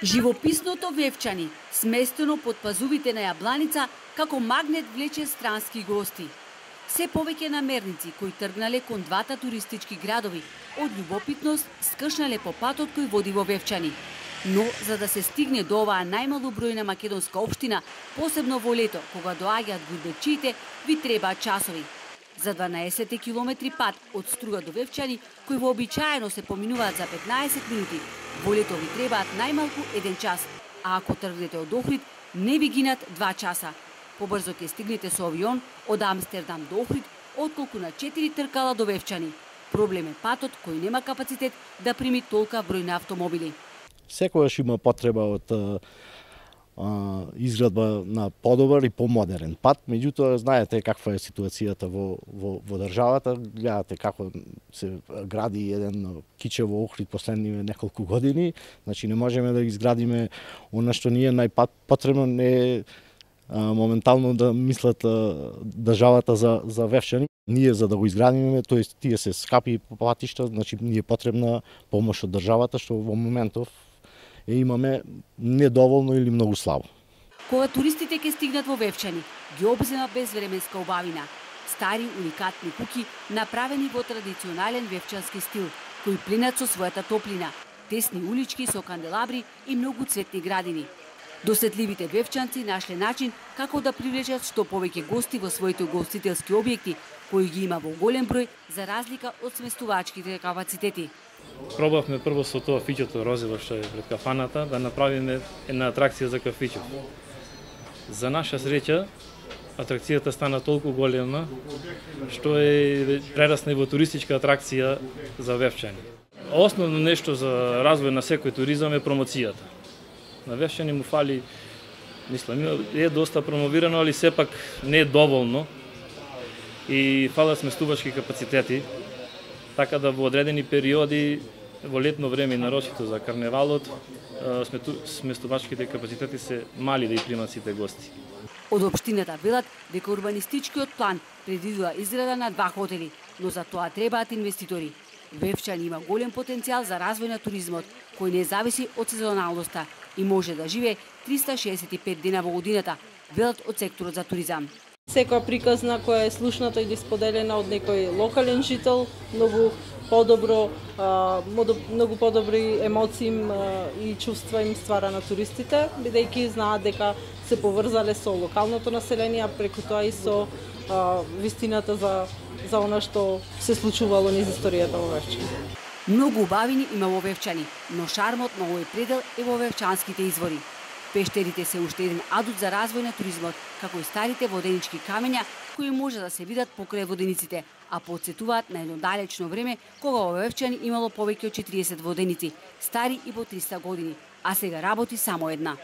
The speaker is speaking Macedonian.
Живописното Вевчани, сместено под пазувите на Јабланица, како магнет влече странски гости. Се повеќе намерници кои тргнале кон двата туристички градови, од љубопитност скршнале по патот кој води во Вевчани. Но за да се стигне до оваа најмалобројна македонска општина, посебно во лето, кога доаѓаат гурбечиите, ви требаат часови. За 12 километри пат од Струга до Вевчани, кои вообичаено се поминуваат за 15 минути, во лето ви требаат најмалку 1 час, а ако тргнете од Охрид, не ви гинат 2 часа. Побрзо ќе стигнете со авион од Амстердам до Охрид, отколку на 4 тркала до Вевчани. Проблем е патот кој нема капацитет да прими толка број на автомобили. Секогаш има потреба од изградба на подобар и помодерен пат, меѓутоа знаете каква е ситуацијата во државата, гледате како се гради еден киче во Охрид последниве неколку години, значи не можеме да изградиме она што ни е најпотребно, не е моментално да мислат државата за Вевчани. Ние за да го изградиме, тоест тие се скапи патишта, значи ни е потребна помош од државата, што во моментов имаме недоволно или многу слабо. Кога туристите ќе стигнат во Вевчани, ги обзема безвременска убавина. Стари уникатни куќи направени во традиционален вевчански стил, кои пленат со својата топлина, тесни улички со канделабри и многу цветни градини. Досетливите вевчанци нашле начин како да привлечат што повеќе гости во своите угостителски објекти, кои ги има во голем број за разлика од сместувачките капацитети. Пробавме прво со тоа фиќото розиво што е пред кафаната да направиме една атракција за кафичо. За наша среќа атракцијата стана толку голема што е прерасна и во туристичка атракција за Вевчани. Основно нешто за развој на секој туризам е промоцијата. На Вевчани му фали, мислам, е доста промовирано, али сепак не е доволно и фалат сместувачки капацитети, така да во одредени периоди, во летно време и нарочито за карневалот, сместувачките капацитети се мали да и примат сите гости. Од општината велат дека урбанистичкиот план предвидува изграда на 2 хотели, но за тоа требаат инвеститори. Вевчани има голем потенцијал за развој на туризмот, кој не зависи од сезоналноста и може да живее 365 дена во годината, велат од секторот за туризам. Секоја приказна која е слушната или споделена од некој локален жител, многу подобри емоции и чувства им ствара на туристите, бидејќи знаат дека се поврзале со локалното население, преку тоа и со вистината за она што се случувало низ историјата во Вевчани. Многу убавини има во Вевчани, но шармот на овој предел е во вевчанските извори. Пештерите се уште еден адут за развој на туризмот, како и старите воденички камења кои може да се видат покрај водениците, а потсетуваат на едно далечно време кога во Вевчани имало повеќе од 40 воденици, стари и по 300 години, а сега работи само една.